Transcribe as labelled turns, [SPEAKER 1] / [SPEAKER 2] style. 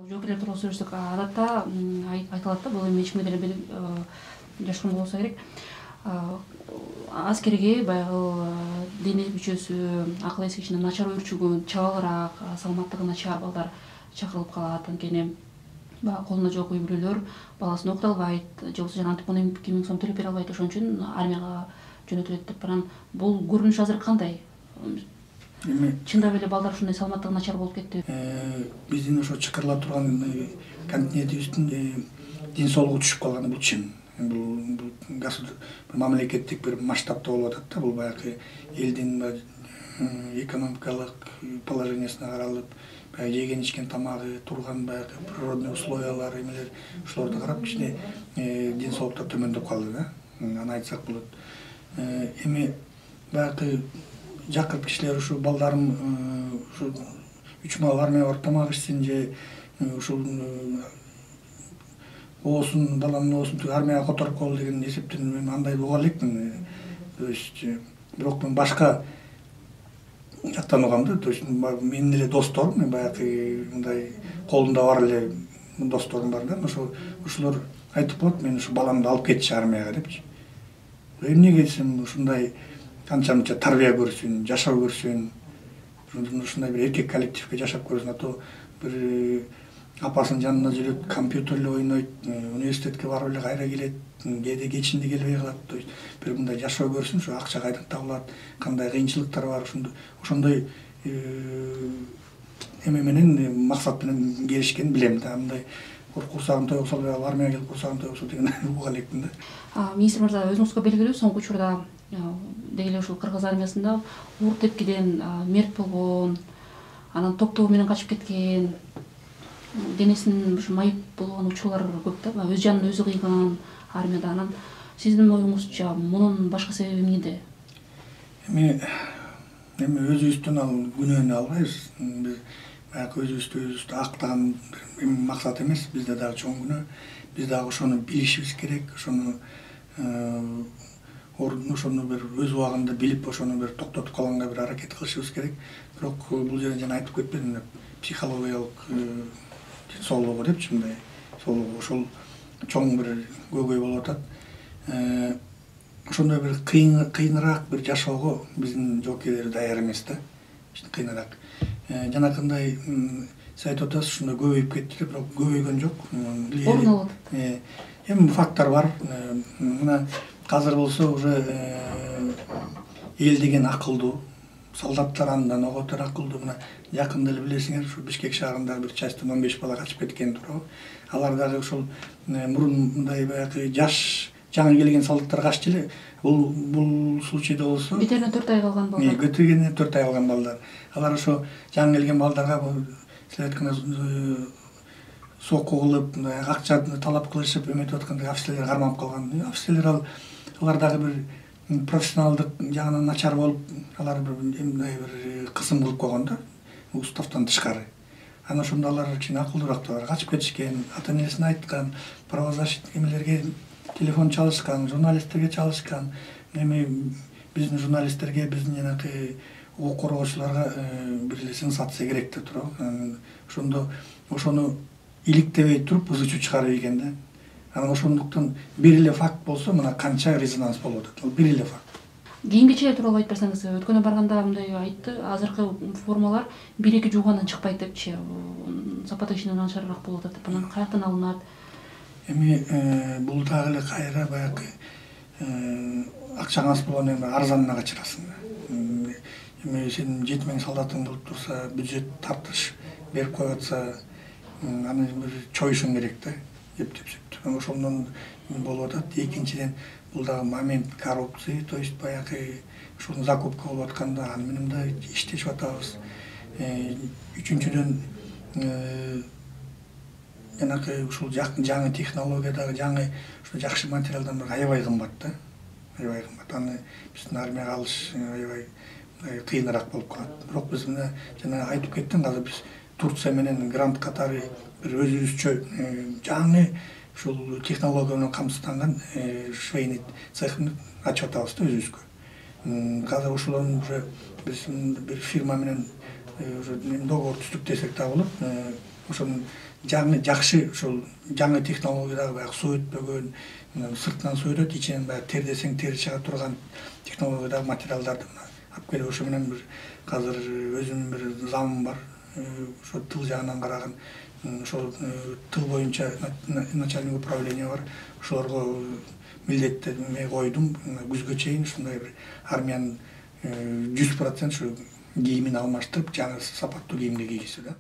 [SPEAKER 1] Жоокерлер тууралуу сөйлөшсөк, адатта айтылат да, бул эми эч кимге деле жашыруун болбосо керек. Аскерге баягы дене мүчөсү, акыл эси кичине начар өөрчүгөн, чабалыраак, саламаттыгы начар балдар чакырылып калат. Анткени баягы колунда жок үй бүлөлөр баласын окута албайт, же болбосо антип 12 000 сом төлөп бере албайт, ошон үчүн армияга жөнөтүлөт деп. Анан бул көрүнүш азыр кандай? Чындап эле балдар ушундай саламаттыгы начар болуп кеттиби?
[SPEAKER 2] Биздин ошо чакырыла турган континентибиздин ден соолугу түшүп калганы бул чын. Бул мамлекеттик бир масштабта болуп атат да. Бул баягы элдин экономикалык положениясына каралып, баягы жеген ичкен тамагы, турган баягы природный условиялар эмелер, ошолорду карап кичине ден соолуктар төмөндөп калды да. Аны айтсак болот. Эми баягы жакырып кишилер ушу балдарым ушу 3 мал армияга барып тамак ичсин же ушул оосун, баланын оосун армияга которуп коелу деген эсептен мен андай уга элекмин. То есть бирок мен башка жактан угам да. То есть менин эле досторум, мен баягы мындай колунда бар эле досторум бар да. Ошолор айтып коет, мен ушу баламды алып кетчи армияга депчи. Эмнеге десем, ушундай канча-мынча тарбия көрсүн, жашоо көрсүн, ушундай бир эркек коллективге жашап көрсүн, а то бир апасынын жанына жүрөт, компьютерде ойнойт, университетке барып эле кайра келет, кээде кечинде келбей калат. То есть бир мындай жашоо көрсүн, ушу акча кайдан табылат, кандай кыйынчылыктар бар, ошондой эме менен максат менен келишкенин билем да. Мындай курсагым той болсо албай армияга келип курсагым той болсо деген уга элекмин да.
[SPEAKER 1] Министр мырза, өзүңүзгө белгилүү, соңку учурда деги эле ушул кыргыз армиясында уур тепкиден мерт болгон, анан топтогу менен качып кеткен, денесинин ушу майып болгон учурлар көп да. Өз жанын өзү кыйган армияда. Анан сиздин оюңузча мунун башка себеби эмнеде?
[SPEAKER 2] Эми өзүбүздөн ал күнөөнү албайбыз. Биз баягы өзүбүздү актаган максат эмес. Бизде дагы чоң күнөө. Биз дагы ошону билишибиз керек. Ошону бир өз убагында билип, ошону бир токтотуп калганга бир аракет кылышыбыз керек. Бирок бул жерде жана айтып кетпедим, психологиялык соолугу депчи, мындай соолугу ошол чоң бир көйгөй болуп атат. Ошондой бир кыйыныраак бир жашоого биздин жоокерлер даяр эмес да. Кыйыныраак. Жанакындай сиз айтып атасыз, ушундай көбөйүп кетти деп, бирок көбөйгөн жок.
[SPEAKER 1] Орун алып атат.
[SPEAKER 2] Эми факттар бар. Мына азыр болсо уже эл деген акылдуу, солдаттар андан оготор акылдуу. Мына жакында эле билесиңер, ушу Бишкек шаарында бир частьтан 15 бала качып кеткен туурабы. Алар дагы ушул мурун мындай баягы жаш жаңы келген солдаттар качты эле. Бул случайда болсо
[SPEAKER 1] Бетерине 4 ай калган балдар.
[SPEAKER 2] Бетерине 4 ай калган балдар. Алар ошо жаңы келген балдарга силер айткандай сокку кылып, акча талап кылышып, эметип атканда офицерлер кармап калган. Офицерлер алар дагы бир профессионалдык жагынан начар болуп, алар мындай бир кысым кылып койгон да, уставтан тышкары. Анан ошондо алар кичине акылдуураак качып кетишкен, ата-энесине айткан, правозащитник эмелерге телефон чалышкан, журналисттерге чалышкан. Эми биздин журналисттерге, биздин жанагы укук коргоочуларга бир эле сенсация керек да туурабы. Ошондо ошону иликтебей туруп ызы чуу чыгарып ийген да. Анан ошондуктан бир эле факт болсо, мына канча резонанс болуп атат. Ал бир эле факт.
[SPEAKER 1] Кийинкиче тууралуу айтып берсеңиз, өткөнө барганда мындай айтты, азыркы формалар 1-2 жуугандан чыкпайт депчи, сапаты кичине начарыраак болуп атат деп. Анан каяктан алынат?
[SPEAKER 2] Эми бул дагы эле кайра баягы акчаң аз болгондон кийин арзанына качырасың. Эми сен 7000 солдатың болуп турса, бюджет тартыш берип коюп атса, аны бир чоюшуң керек да, эптеп. Ошондон болуп атат. Экинчиден, бул дагы момент коррупции, то есть баягы ушул закупка болуп атканда аны менен да иштешип атабыз. Үчүнчүдөн, жанагы ушул жаңы технологиядагы жаңы ушул жакшы материалдан аябай кымбат да. Аябай кымбат. Аны биздин армияга алыш аябай кыйыныраак болуп калат. Бирок биз мына жана айтып кеттим, азыр биз Турция менен грант катары бир өзүбүзчө жаңы ушул технология менен камсызданган швейный цехин ачып атабыз да өзүбүзгө. Азыр ошолордун уже биз бир фирма менен уже договор түздүк десек да болот. Ошонун жакшы ушул жаңы технологиядагы баягы суу өтпөгөн, сыртынан суу өтөт, ичинен баягы тер десең тери чыга турган технологиядагы материалдарды алып келип ошо менен бир азыр өзүмдүн бир замым бар. Ошо тыл жагынан караган, ошол тыл боюнча начальник управление бар. Ошолорго милдеттенме койдум. Күзгө чейин ушундай бир армиянын 100% ушу кийимин алмаштырып, жаңы сапаттуу кийимге кийгизүү да.